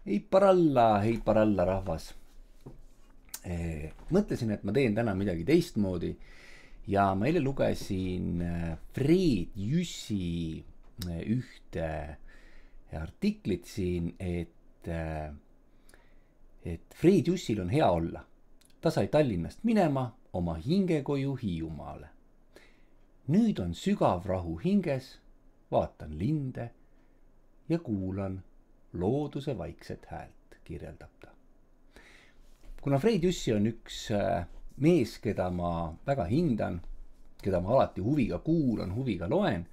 Hei paralla rahvas. Mõtlesin, et ma teen täna midagi teistmoodi ja ma eile lugesin Fred Jüssi ühte artiklit siin, et Fred Jüssil on hea olla. Ta sai Tallinnast minema oma hingekoju Hiiumaale. Nüüd on sügav rahu hinges, vaatan linde ja kuulan looduse vaikset häält, kirjeldab ta. Kuna Fred Jüssi on üks mees, keda ma väga hindan, keda ma alati huviga kuulan, huviga loen,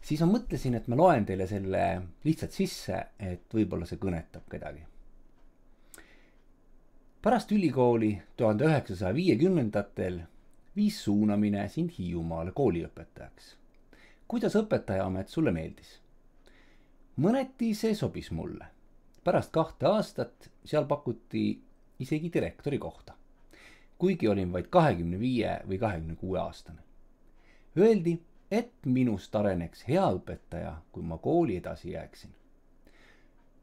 siis ma mõtlesin, et ma loen teile selle lihtsalt sisse, et võib-olla see kõnetab kedagi. Pärast ülikooli 1950-ndatel viis suunamine sind Hiiumaale kooliõpetajaks. Kuidas õpetajaamet sulle meeldis? Mõneti see sobis mulle. Pärast 2 aastat seal pakuti isegi direktori kohta, kuigi olin vaid 25 või 26 aastane. Öeldi, et minust areneks hea õpetaja, kui ma kooli edasi jääksin.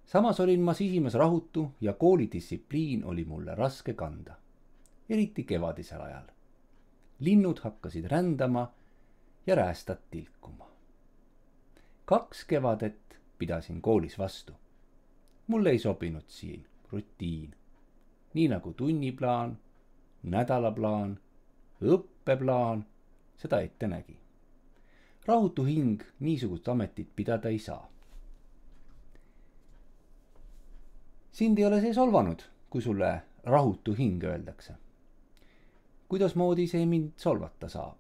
Samas olin ma sisimas rahutu ja koolidistsipliin oli mulle raske kanda, eriti kevadisel ajal. Linnud hakkasid rändama ja räästad tilkuma. 2 kevadet pidasin koolis vastu. Mulle ei sobinud siin rutiin, nii nagu tunniplaan, nädalaplaan, õppeplaan seda ette nägi. Rahutu hing niisugust ametit pidada ei saa. Sind ei ole see solvanud, kui sulle rahutu hing öeldakse. Kuidasmoodi see mind solvata saab?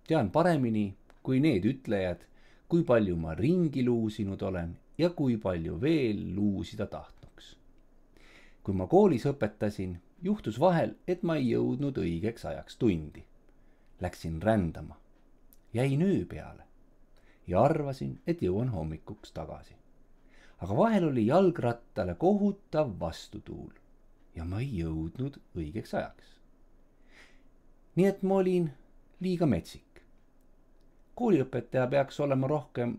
Tean paremini kui need ütlejad, kui palju ma ringi luusinud olen ja kui palju veel luusida tahtnuks. Kui ma koolis õpetasin, juhtus vahel, et ma ei jõudnud õigeks ajaks tundi. Läksin rändama, jäin öö peale ja arvasin, et jõuan hommikuks tagasi. Aga vahel oli jalgrattale kohutav vastutuul ja ma ei jõudnud õigeks ajaks. Nii et ma olin liiga metsik. Kooliõpetaja peaks olema rohkem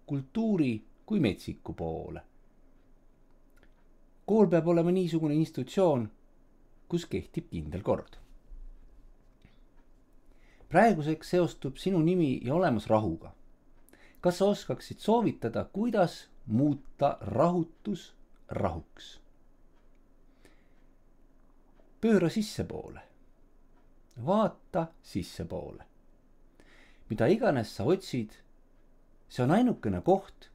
kultuuri kui metsiku poole. Kool peab olema niisugune institutsioon, kus kehtib kindel kord. Praeguseks seostub sinu nimi ja olemas rahuga. Kas sa oskaksid soovitada, kuidas muuta rahutus rahuks? Pööra sissepoole. Vaata sissepoole. Mida iganes sa otsid, see on ainukene koht,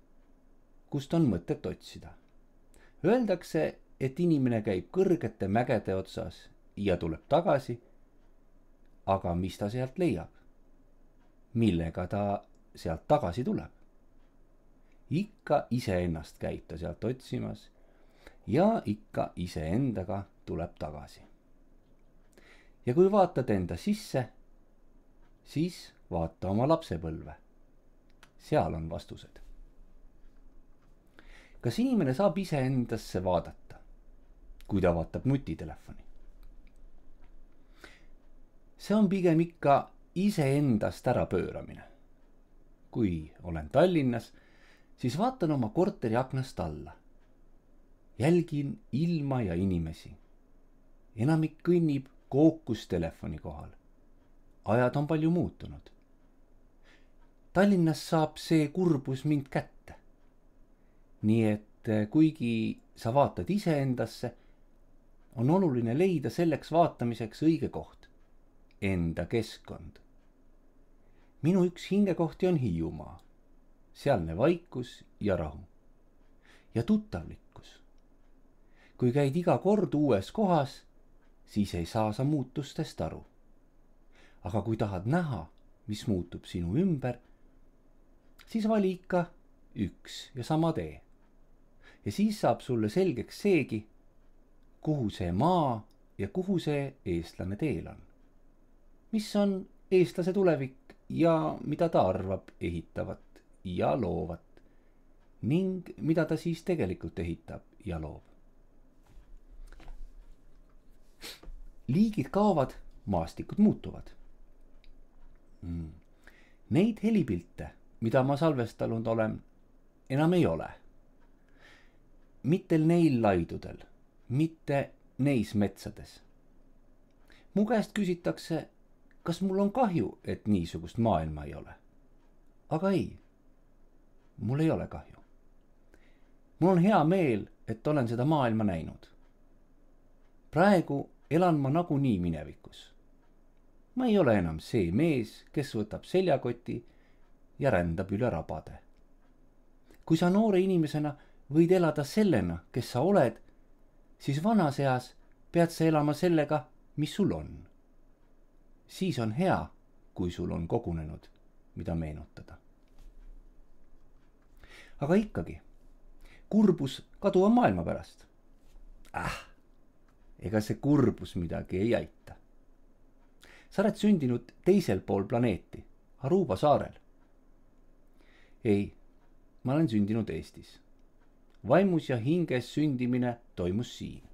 kust on mõtet otsida. Öeldakse, et inimene käib kõrgete mägede otsas ja tuleb tagasi, aga mis ta sealt leiab? Millega ta sealt tagasi tuleb? Ikka iseennast käib ta sealt otsimas ja ikka iseendaga tuleb tagasi. Ja kui vaatad enda sisse, siis vaata oma lapsepõlve. Seal on vastused. Kas inimene saab iseendasse vaadata, kui ta vaatab nutitelefoni? See on pigem ikka iseendast ära pööramine. Kui olen Tallinnas, siis vaatan oma korteri aknast alla. Jälgin ilma ja inimesi. Enamik kõnnib kookus telefoni kohal. Ajad on palju muutunud. Tallinnas saab see kurbus mind kätte. Nii et kuigi sa vaatad iseendasse, on oluline leida selleks vaatamiseks õige koht. Enda keskkond. Minu üks hingekohti on Hiiumaa. Sealne vaikus ja rahu. Ja tuttavlikkus. Kui käid iga kord uues kohas, siis ei saa sa muutustest aru. Aga kui tahad näha, mis muutub sinu ümber, siis vali ikka üks ja sama tee. Ja siis saab sulle selgeks seegi, kuhu see maa ja kuhu see eestlane teel on. Mis on eestlase tulevik ja mida ta arvab ehitavat ja loovat ning mida ta siis tegelikult ehitab ja loob. Liigid kaovad, maastikud muutuvad. Neid helipilte, mida ma salvestanud olen, enam ei ole. mitte neil laidudel, mitte neis metsades. Mu käest küsitakse, kas mul on kahju, et niisugust maailma ei ole. Aga ei, mul ei ole kahju. Mul on hea meel, et olen seda maailma näinud. Praegu elan ma nagunii minevikus. Ma ei ole enam see mees, kes võtab seljakoti ja rändab üle rabade. Kui sa noore inimesena võid elada sellena, kes sa oled, siis vanas eas pead sa elama sellega, mis sul on. Siis on hea, kui sul on kogunenud, mida meenutada. Aga ikkagi, kurbus kaduva maailma pärast. Ega see kurbus midagi ei aita. Sa oled sündinud teisel pool planeeti, Aruba saarel. Ei, ma olen sündinud Eestis. Vaimus ja hinges sündimine toimus siin.